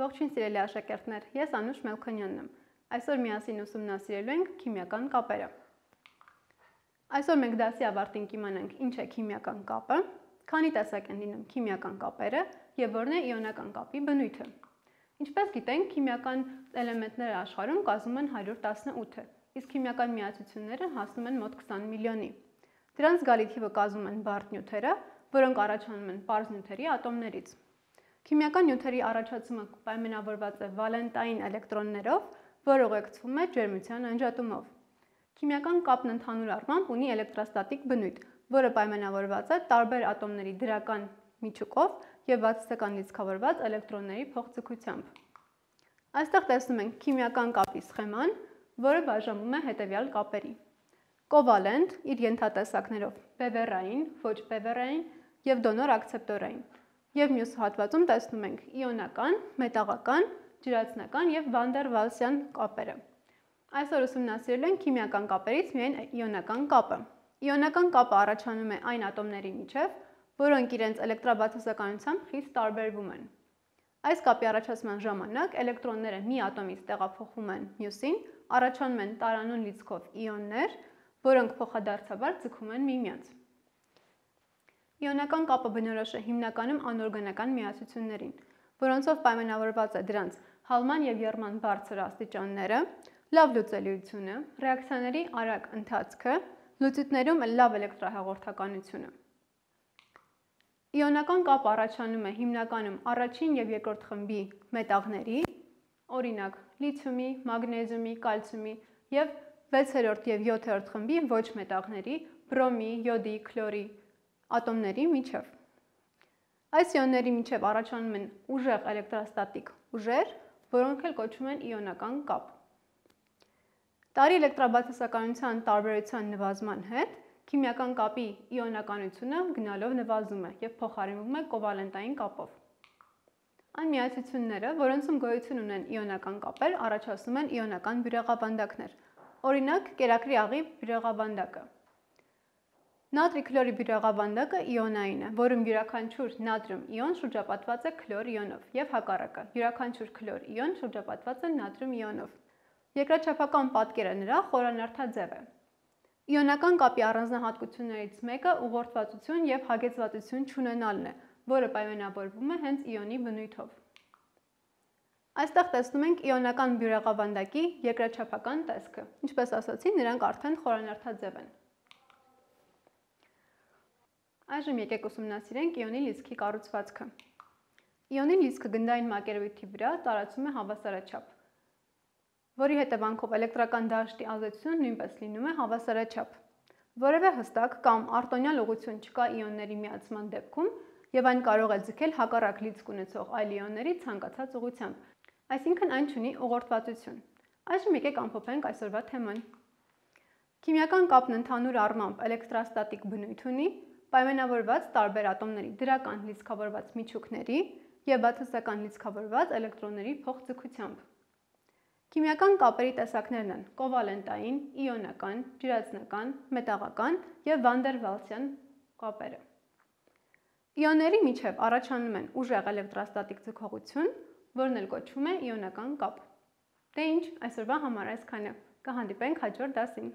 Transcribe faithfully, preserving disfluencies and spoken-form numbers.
Ողջույն սիրելի աշակերտներ, ես Անուշ Մելքոնյանն եմ։ Այսօր միասին ուսումնասիրելու ենք քիմիական կապերը։ Այսօր մենք դասի ավարտին կիմանանք ինչ է քիմիական կապը, քանի տեսակ են լինում քիմիական կապերը և որն է իոնական կապի բնույթը։ Ինչպես գիտենք, քիմիական էլեմենտները աշխարհում կազմում են հարյուր տասնութ, իսկ քիմիական միացությունները հասնում են մոտ քսան միլիոնի։ Դրանց զգալի թիվը կազմում են բարդ նյութերը, որոնք առաջանում են պարզ նյութերի ատոմներից։ Քիմիական նյութերի առաջացումը պայմանավորված է վալենտային էլեկտրոններով, որը ուղեկցվում է ջերմության անջատումով։ Քիմիական կապն ընդհանուր առմամբ ունի էլեկտրոստատիկ բնույթ, որը պայմանավորված է տարբեր ատոմների դրական միջուկով և վատթսական լիցքավորված էլեկտրոնների փոխձգությամբ։ Այստեղ տեսնում ենք քիմիական կապի սխեման, որը բաժանվում է հետևյալ կապերի. կովալենտ իր ենթատեսակներով բևեռային, ոչ բևեռային և դոնոր ակցեպտորային, և մյուս հատվածում տեսնում ենք իոնական, մետաղական, ջրածնական և վանդեր-վալսյան կապերը։ Այսօր ուսումնասիրելու ենք քիմիական կապերից միայն իոնական կապը։ Իոնական կապը առաջանում է այն ատոմների միջև, որոնք իրենց էլեկտրաբացասականությամբ խիստ տարբերվում են։ Այս կապի առաջացման ժամանակ էլեկտրոնները մի ատոմից տեղափոխվում են մյուսին, առաջանում են տարանուն լիցքով իոններ, որոնք փոխադարձաբար ձգում են միմյանց։ Իոնական կապը բնորոշ է հիմնականում անօրգանական միացություններին, որոնցով պայմանավորված է դրանց հալման և եռման բարձր աստիճանները, լավ լուծելիությունը, ռեակցիաների արագ ընթացքը, լուծույթներում լավ էլեկտրահաղորդականությունը։ Իոնական կապը առաջանում է հիմնականում առաջին և երկրորդ խմբի մետաղների, օրինակ լիթիումի, մագնեզիումի, կալցիումի և վեցերորդ և յոթերորդ խմբի ոչ մետաղների, բրոմի, յոդի, քլորի ատոմների միջև։ Այս իոնների միջև առաջանում են ուժեղ էլեկտրոստատիկ ուժեր, որոնք էլ կոչվում են իոնական կապ։ Տարի էլեկտրաբացասականության տարբերության նվազման հետ քիմիական կապի իոնականությունը գնալով նվազում է և փոխարինվում է կովալենտային կապով։ Այն միացությունները, որոնցում գոյություն ունեն իոնական կապեր, առաջացնում են իոնական բյուրեղավանդակներ, օրինակ կերակրի աղի բյուրեղավանդակը։ Նատրի քլորի բյուրեղավանդակը իոնային է, որում յուրաքանչյուր նատրիում իոն շրջապատված է քլոր իոնով և հակառակը, յուրաքանչյուր քլոր իոն շրջապատված է նատրիում իոնով։ Երկրաչափական պատկերը նրա խորանարդաձև է։ Իոնական կապի առանձնահատկություններից մեկը ուղղորդվածություն և հագեցվածություն չունենալն է, որը պայմանավորվում է հենց իոնի բնույթով։ Այստեղ տեսնում ենք իոնական բյուրեղավանդակի երկրաչափական տեսքը, ինչպես ասացի, նրանք արդեն խորանարդաձև են։ Այժմ եկեք ուսումնասիրենք իոնի լիցքի կառուցվածքը։ Իոնի լիցքը գնդային մակերևույթի վրա տարածում է հավասարաչափ, որի հետևանքով էլեկտրական դաշտի ազդեցությունը նույնպես լինում է հավասարաչափ։ Որևէ հստակ կամ արտոնյալ ուղղություն չկա իոնների միացման դեպքում, և այն կարող է ձգել հակառակ լիցք ունեցող այլ իոնների ցանկացած ուղղությամբ, այսինքն այն չունի ուղղորդվածություն։ Այժմ եկեք ամփոփենք այսօրվա թեման։ Քիմիական կապն ընդհանուր առմամբ էլեկտրոստատիկ բնույթ ունի, պայմանավորված տարբեր ատոմների դրական լիցքավորված միջուկների և վատթսական լիցքավորված էլեկտրոնների փոխձգությամբ։ Քիմիական կապերի տեսակներն են կովալենտային, իոնական, ջրածնական, մետաղական և վանդեր-վալսյան կապերը։ Իոնների միջև առաջանում են ուժեղ էլեկտրոստատիկ ձգողություն, որն էլ կոչվում է իոնական կապ։ Դե ինչ, այսօրվա համար այսքանը։ Կհանդիպենք հաջորդ դասին։